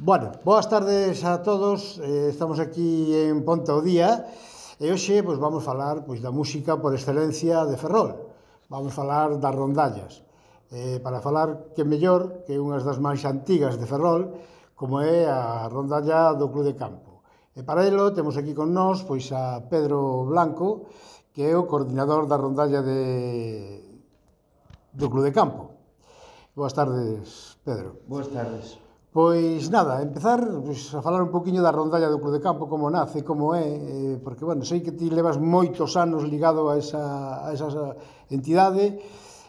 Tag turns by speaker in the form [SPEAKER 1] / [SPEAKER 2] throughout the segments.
[SPEAKER 1] Bueno, boas tardes a todos, estamos aquí en Ponte ao Día e hoxe vamos falar da música por excelencia de Ferrol. Vamos falar das rondallas. Para falar que mellor que unhas das máis antigas de Ferrol, como é a rondalla do Club de Campo. E para elo temos aquí con nós a Pedro Blanco, que é o coordinador da rondalla do Club de Campo. Boas tardes, Pedro.
[SPEAKER 2] Boas tardes.
[SPEAKER 1] Pois nada, empezar a falar un poquinho da rondalla do Club de Campo, como nace, como é, porque, bueno, sei que ti levas moitos anos ligado a esa entidade,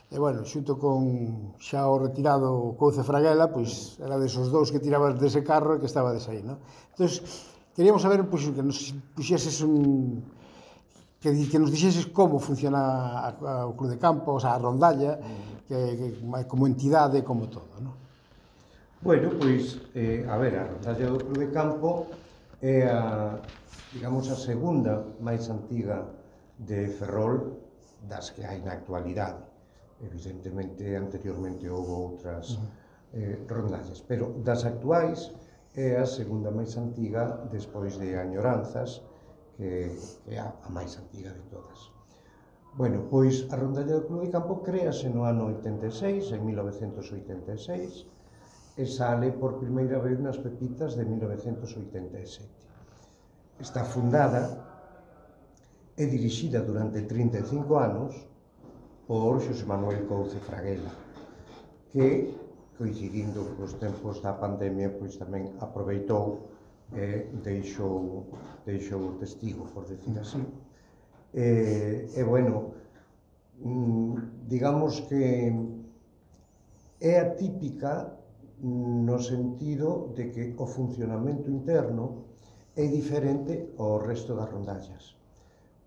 [SPEAKER 1] e, bueno, xunto con xa o retirado Couce Fraguela, pois era desos dous que tirabas dese carro e que estabades aí, non? Entón, queríamos saber, pois, que nos puxeses que nos dixeses como funciona o Club de Campo, o sea, a rondalla, que como entidade, como todo, non?
[SPEAKER 2] Bueno, pois, a ver, a rondalla do Club de Campo é digamos, a segunda máis antiga de Ferrol das que hai na actualidade. Evidentemente, anteriormente houve outras rondallas, pero das actuais é a segunda máis antiga despois de Añoranzas, que é a máis antiga de todas. Bueno, pois a rondalla do Club de Campo créase no ano 86, en 1986, e sale por primeira vez nas Pepitas de 1987. Está fundada e dirixida durante 35 anos por Xosé Manuel Couce Fraguela, que, coincidindo cos tempos da pandemia, pois tamén aproveitou e deixou o testigo, por decir así. E, bueno, digamos que é atípica no sentido de que o funcionamento interno é diferente ao resto das rondallas,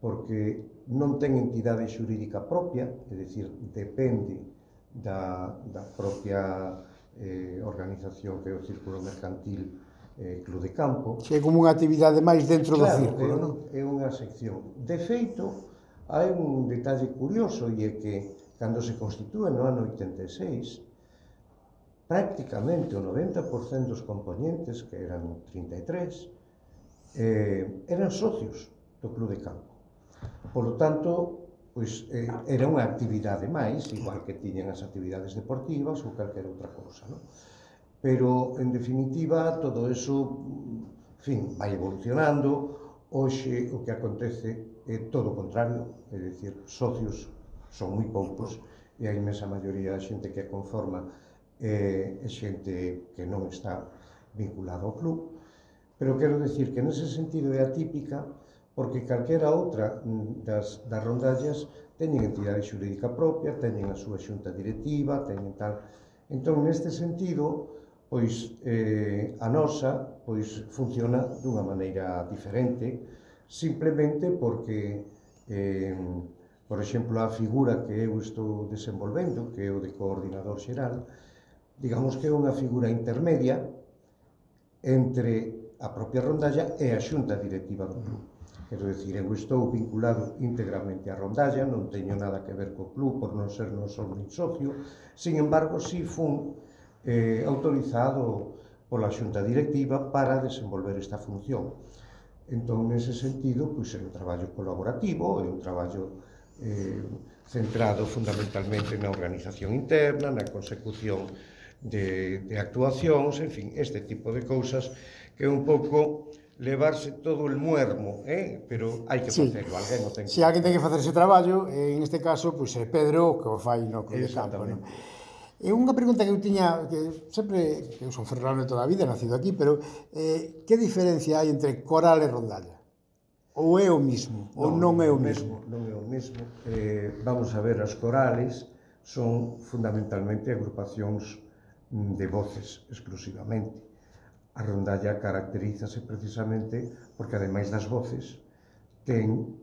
[SPEAKER 2] porque non ten entidade xurídica propia, é dicir, depende da propia organización que é o Círculo Mercantil Club de Campo.
[SPEAKER 1] É como unha actividade máis dentro do círculo, non?
[SPEAKER 2] É unha sección. De feito, hai un detalle curioso, e é que, cando se constitúe no ano 86, prácticamente o 90% dos componentes, que eran 33, eran socios do Club de Campo. Por lo tanto, pois, era unha actividade máis, igual que tiñan as actividades deportivas ou calquera outra cousa, non? Pero, en definitiva, todo eso, en fin, vai evolucionando. Hoxe o que acontece é todo o contrario, é dicir, socios son moi poucos, e a inmensa maioría da xente que conforma é xente que non está vinculada ao club. Pero quero dicir que nese sentido é atípica, porque calquera outra das rondallas teñen entidade xurídica propia, teñen a súa xunta directiva, teñen tal. Entón, neste sentido, pois a nosa funciona dunha maneira diferente, simplemente porque, por exemplo, a figura que eu estou desenvolvendo, que é o de coordinador xeral, digamos que é unha figura intermedia entre a propia rondalla e a xunta directiva do club. Quero dicir, eu estou vinculado íntegramente á rondalla, non teño nada que ver co club por non ser non só nin socio, sin embargo, si fun autorizado pola xunta directiva para desenvolver esta función. Entón, nese sentido, pois é un traballo colaborativo, é un traballo centrado fundamentalmente na organización interna, na consecución de actuacións, en fin, este tipo de cousas que é un pouco levarse todo el muermo, pero hai que facelo, alguén o ten que
[SPEAKER 1] facer. Si, alguén ten que facer ese traballo, en este caso, pois é Pedro que o fai no Club de Campo, non? E unha pregunta que eu tiña, que sempre, que eu son ferrolano toda a vida, nacido aquí, pero que diferencia hai entre coral e rondalla? Ou é o mismo? Ou non é o mesmo?
[SPEAKER 2] Non é o mesmo. Vamos a ver, as corales son fundamentalmente agrupacións de voces exclusivamente. A rondalla caracterízase precisamente porque, ademais das voces, ten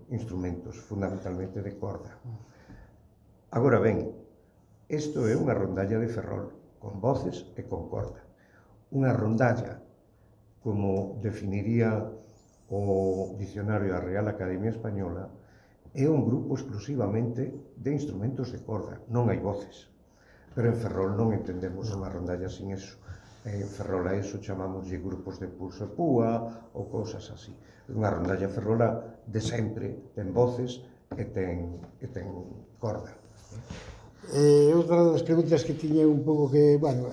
[SPEAKER 2] instrumentos fundamentalmente de corda. Agora ben, isto é unha rondalla de Ferrol, con voces e con corda. Unha rondalla, como definiría o dicionario da Real Academia Española, é un grupo exclusivamente de instrumentos de corda, non hai voces. Pero en Ferrol non entendemos unha rondalla sin eso. En Ferrol a eso chamámoslle grupos de pulso e púa ou cousas así. Unha rondalla ferrola de sempre ten voces e ten corda.
[SPEAKER 1] Outra das preguntas que tiña un pouco que, bueno,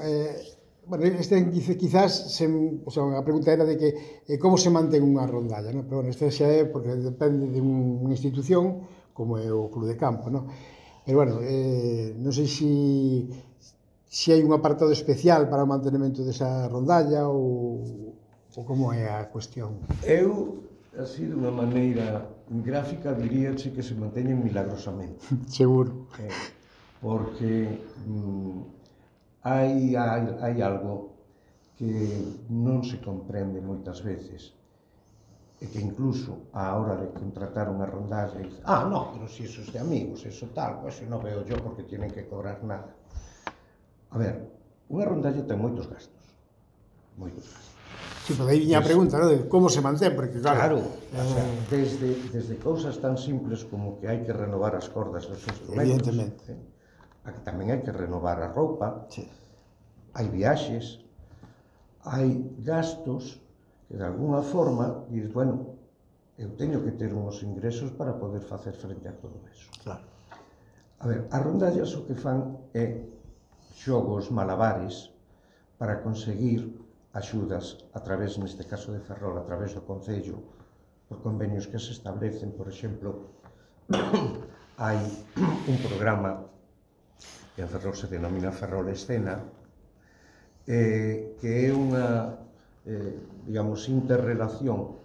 [SPEAKER 1] quizás, a pregunta era de que como se mantén unha rondalla, non? Pero, bueno, este xa é porque depende de unha institución como é o Club de Campo, non? Pero, bueno, non sei se hai un apartado especial para o mantenimento desa rondalla ou como é a cuestión.
[SPEAKER 2] Eu, así, dunha maneira gráfica, diríache que se manteñen milagrosamente.
[SPEAKER 1] Seguro.
[SPEAKER 2] Porque hai algo que non se comprende moitas veces e que incluso a hora de contratar unha rondalla dice, no, pero si eso es de amigos, eso tal, pues non veo yo porque tienen que cobrar nada. A ver, unha rondalla ten moitos gastos. Moitos gastos.
[SPEAKER 1] Sí, pero aí viña a pregunta, non? De como se mantén, porque
[SPEAKER 2] claro, desde cousas tan simples como que hai que renovar as cordas dos instrumentos.
[SPEAKER 1] Evidentemente.
[SPEAKER 2] A que tamén hai que renovar a roupa,
[SPEAKER 1] sí.
[SPEAKER 2] Hai viaxes, hai gastos que de alguna forma dices, bueno, eu teño que ter uns ingresos para poder facer frente a todo eso.
[SPEAKER 1] Claro.
[SPEAKER 2] A ver, as rondallas o que fan é xogos malabares para conseguir axudas a través, neste caso de Ferrol, a través do Concello, por convenios que se establecen. Por exemplo, hai un programa que en Ferrol se denomina Ferrol Escena, que é unha, digamos, interrelación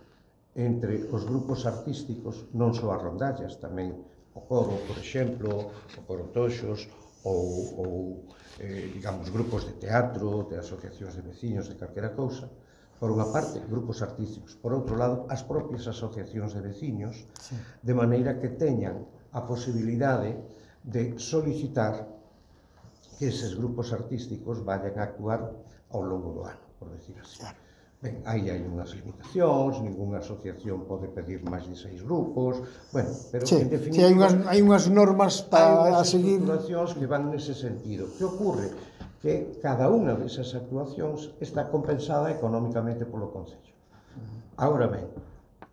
[SPEAKER 2] entre os grupos artísticos, non só as rondallas, tamén o coro, por exemplo, o coro Toxos, ou digamos, grupos de teatro, de asociacións de veciños, de calquera cousa. Por unha parte, grupos artísticos. Por outro lado, as propias asociacións de veciños, sí. De maneira que teñan a posibilidade de solicitar que eses grupos artísticos vayan a actuar ao longo do ano, por decir así. Claro. Ben, aí hai unhas limitacións, ninguna asociación pode pedir máis de 6 grupos, bueno, pero
[SPEAKER 1] sí,
[SPEAKER 2] en definitiva...
[SPEAKER 1] Sí, hai unhas normas para seguir...
[SPEAKER 2] Hai unhas estructuracións que van nese sentido. Que ocorre? Que cada unha desas actuacións está compensada económicamente polo Concello. Agora ben,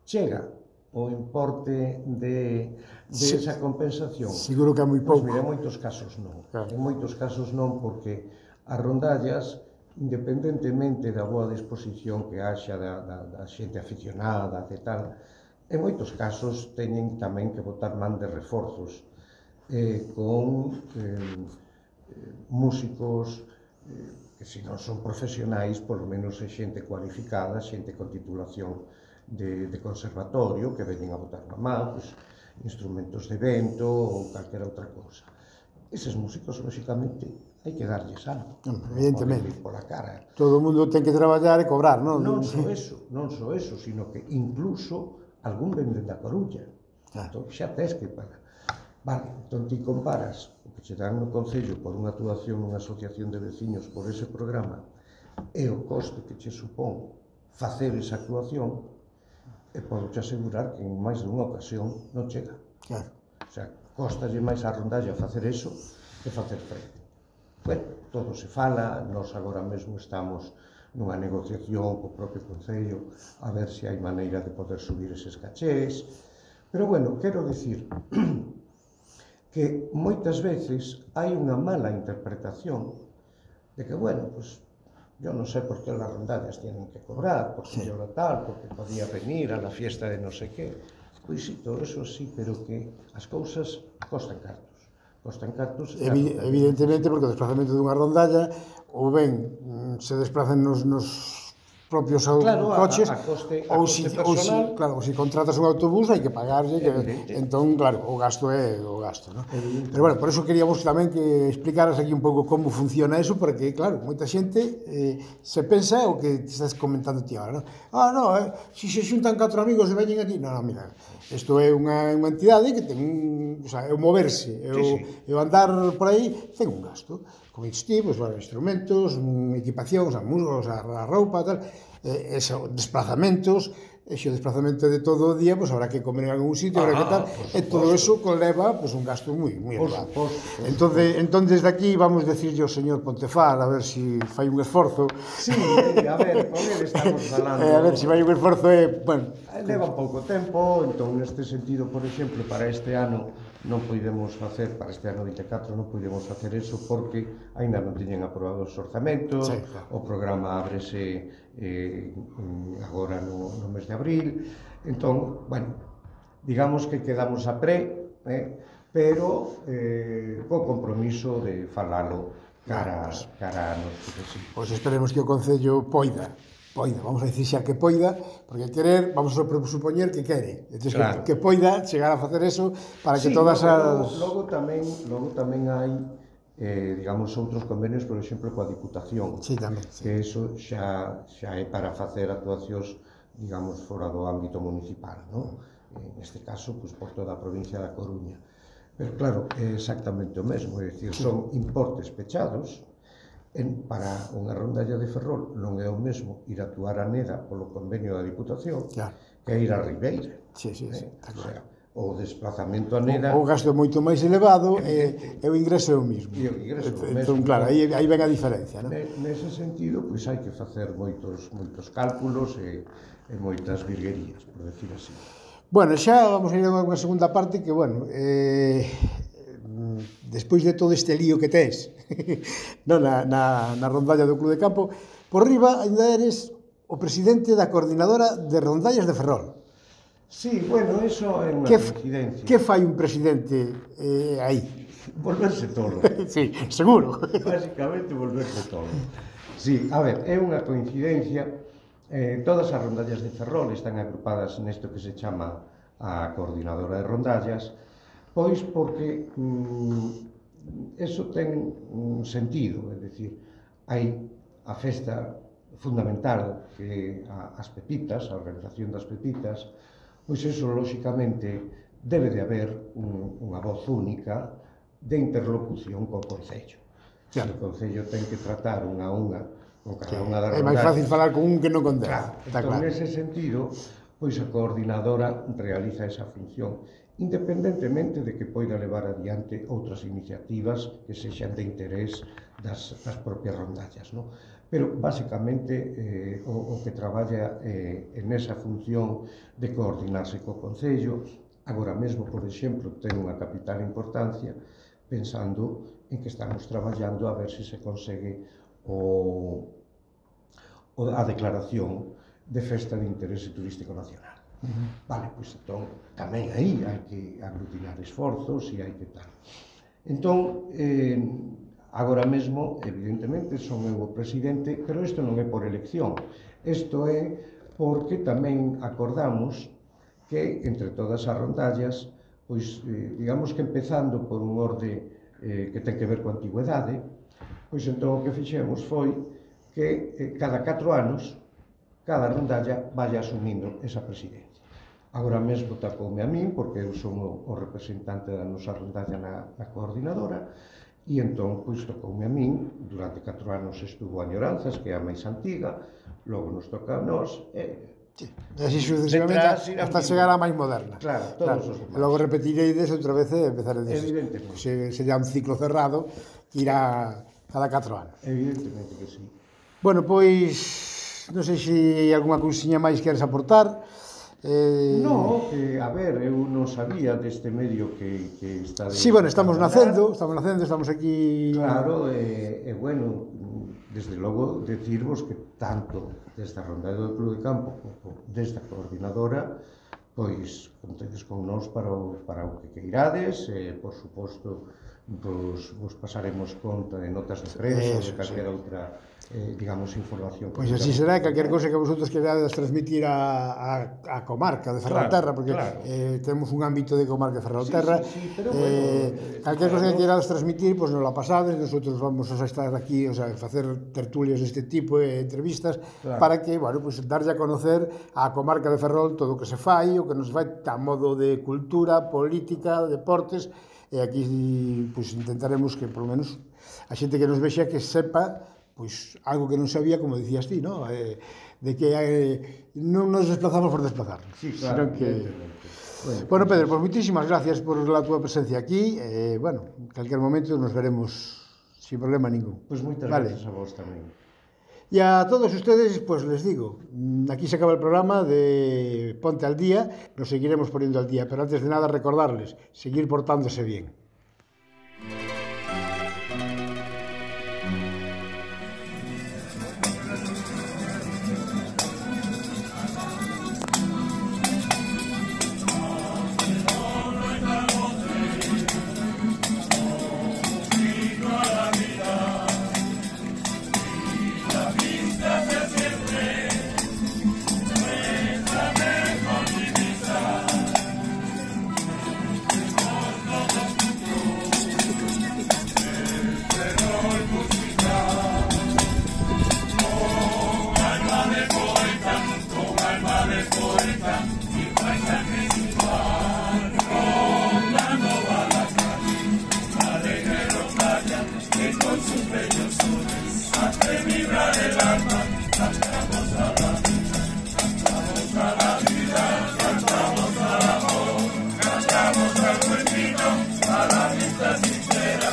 [SPEAKER 2] chega o importe de esa compensación.
[SPEAKER 1] Seguro que é moi pouco.
[SPEAKER 2] Pois mira, en moitos casos non.
[SPEAKER 1] Claro.
[SPEAKER 2] En moitos casos non, porque as rondallas, independentemente da boa disposición que haxa da xente aficionada e tal, en moitos casos teñen tamén que botar man de reforzos con músicos que se non son profesionais, polo menos é xente cualificada, xente con titulación de conservatorio, que veñen a botar na man, pues, instrumentos de vento ou calquera outra cousa. Eses músicos, lóxicamente, hai que darlles algo.
[SPEAKER 1] Evidentemente.
[SPEAKER 2] Non pola cara.
[SPEAKER 1] Todo o mundo ten que traballar e cobrar, non?
[SPEAKER 2] Non só eso, sino que incluso algún vende da Coruña. Entón, xa tes que pagar. Vale, entón ti comparas o que che dan no Concello por unha actuación nunha asociación de veciños por ese programa e o coste que che supón facer esa actuación, e podo te asegurar que en máis dunha ocasión non chega.
[SPEAKER 1] Claro.
[SPEAKER 2] O sea, costalle máis a rondalla facer eso que facer frente. Bueno, todo se fala, nós agora mesmo estamos nunha negociación co propio Concello a ver se hai maneira de poder subir eses cachés, pero bueno, quero dicir que moitas veces hai unha mala interpretación de que, bueno, pues yo non sei por que las rondallas tienen que cobrar, porque yo lo tal, porque podía venir a la fiesta de no sé qué. Pois sí, todo eso sí, pero que as cousas costan cartos. Costan cartos...
[SPEAKER 1] Evidentemente, porque o desplazamento dunha rondalla ou ben se desplazan nos propios coches, ou se contratas un autobús hai que pagarlle, entón, claro, o gasto é o gasto, non? Pero, bueno, por eso queríamos tamén que explicaras aquí un pouco como funciona eso, porque, claro, moita xente se pensa o que te estás comentando ti agora, non? Se se xuntan 4 amigos e veñen aquí, non, mira, isto é unha entidade que ten o sea, é o moverse, é o andar por aí, ten un gasto, comestivos, instrumentos, equipacións, a roupa, tal, desplazamentos, e xe o desplazamento de todo o día, pois habrá que comer en algún sitio, habrá que tal, e todo eso conleva pois un gasto moi elevado. Entón, desde aquí vamos decirlle ao señor Pontefar a ver se fai un esforzo.
[SPEAKER 2] Sí, a ver, con ele estamos falando.
[SPEAKER 1] A ver se fai un esforzo, bueno.
[SPEAKER 2] Leva pouco tempo, entón neste sentido, por exemplo, para este ano non podemos facer, para este ano 24 non podemos facer eso porque aínda non teñen aprobado os orzamentos, sí, claro. O programa ábrese agora no mes de abril, entón, bueno, digamos que quedamos a pero co compromiso de falalo cara a nos.
[SPEAKER 1] Pois esperemos que o Concello poida, vamos a dicir xa que poida, porque querer, vamos a supoñer que quere, entonces, claro, que poida chegar a facer eso para que todas as...
[SPEAKER 2] Logo tamén hai, digamos, outros convenios, por exemplo, coa Diputación,
[SPEAKER 1] sí, tamén, sí.
[SPEAKER 2] Que eso xa é para facer actuacións, digamos, fora do ámbito municipal, non? Neste caso, pois, por toda a provincia da Coruña. Pero, claro, é exactamente o mesmo, é dicir, son importes pechados. Para unha rondalla de Ferrol non é o mesmo ir a actuar a Neda polo convenio da Diputación, claro, que ir a Ribeira.
[SPEAKER 1] Sí, está claro.
[SPEAKER 2] O desplazamento a Neda...
[SPEAKER 1] O gasto é moito máis elevado e o ingreso é o mesmo.
[SPEAKER 2] E o ingreso é o mesmo.
[SPEAKER 1] Entón, claro, aí ven a diferencia, non?
[SPEAKER 2] Nese sentido, pois hai que facer moitos cálculos e moitas virguerías, por decir así.
[SPEAKER 1] Bueno, xa vamos a ir a unha segunda parte que, bueno, despois de todo este lío que tes na rondalla do Club de Campo, por riba ainda eres o presidente da coordinadora de rondallas de Ferrol.
[SPEAKER 2] Sí, bueno, eso é unha coincidencia.
[SPEAKER 1] Que fai un presidente aí?
[SPEAKER 2] Volverse tolo.
[SPEAKER 1] Sí, seguro.
[SPEAKER 2] Básicamente volverse tolo. Sí, a ver, é unha coincidencia. Todas as rondallas de Ferrol están agrupadas nesto que se chama a coordinadora de rondallas, pois porque eso ten un sentido, é dicir, hai a festa fundamental que as pepitas, a organización das pepitas, pois eso, lóxicamente, debe de haber unha voz única de interlocución co Concello. Claro. O Concello ten que tratar unha a unha con cada unha das rondallas.
[SPEAKER 1] É máis fácil falar con un que non con dez.
[SPEAKER 2] Claro, entón, nese sentido, pois a coordinadora realiza esa función, independentemente de que poida levar adiante outras iniciativas que sexan de interés das propias rondallas, non? Pero, basicamente, o que traballa en esa función de coordinarse co Concello, agora mesmo, por exemplo, ten unha capital importancia, pensando en que estamos traballando a ver se consegue a declaración de festa de interese turístico nacional. Vale, pois entón, tamén aí hai que aglutinar esforzos e hai que tal. Entón, agora mesmo, evidentemente, son eu o presidente, pero isto non é por elección. Isto é porque tamén acordamos que, entre todas as rondallas, pois, digamos que empezando por un orde que ten que ver coa antigüedade, pois entón o que fixemos foi que cada 4 anos, cada rondalla vaya asumindo esa presidencia. Agora mesmo tacoume a min, porque eu son o representante da nosa rondalla na coordinadora, e entón, pois, tocoume a min, durante 4 anos estuvo a Añoranzas, que é a máis antiga, logo nos toca a nós,
[SPEAKER 1] e así sucesivamente hasta chegar á máis moderna.
[SPEAKER 2] Claro, todos os demais.
[SPEAKER 1] Logo repetireides outra vez e empezaredes.
[SPEAKER 2] Evidentemente.
[SPEAKER 1] Sería un ciclo cerrado que irá cada 4 anos.
[SPEAKER 2] Evidentemente que sí.
[SPEAKER 1] Bueno, pois, non sei se hai algunha cousiña máis queres aportar.
[SPEAKER 2] No, que, a ver, eu non sabía deste medio que está...
[SPEAKER 1] Sí, bueno, estamos nacendo, estamos aquí...
[SPEAKER 2] Claro, bueno, desde logo, decirvos que tanto desde a rondalla do Club de Campo como desde a coordinadora, pois, contedes con nós para o que queirades, por suposto, vos pasaremos conta de notas de prensa ou de calquera outra, digamos, información.
[SPEAKER 1] Pois así será, calquer cousa que vosotros querades transmitir a comarca de Ferrolterra, porque temos un ámbito de comarca de Ferrolterra, calquer cousa que querades transmitir, pois nos la pasades, nosotros vamos a estar aquí, o sea, facer tertulias deste tipo, entrevistas, para que, bueno, pois darlle a conocer a comarca de Ferrol todo o que se fai, o que non se fai, a modo de cultura, política, deportes, e aquí, pois, intentaremos que, polo menos, a xente que nos vexa que sepa pois algo que non sabía, como dicías ti, ¿no? De que non nos desplazamos por desplazarnos.
[SPEAKER 2] Sí, claro,
[SPEAKER 1] Que... Bueno, Pedro, pues muchísimas gracias por la tua presencia aquí. Bueno, en cualquier momento nos veremos sin problema ningún.
[SPEAKER 2] Pues moitas gracias a vos tamén.
[SPEAKER 1] Y a todos ustedes, pues les digo, aquí se acaba el programa de Ponte al Día, nos seguiremos poniendo al día, pero antes de nada recordarles, seguir portándose bien.
[SPEAKER 3] Cantamos al buen vino, a la vista sincera.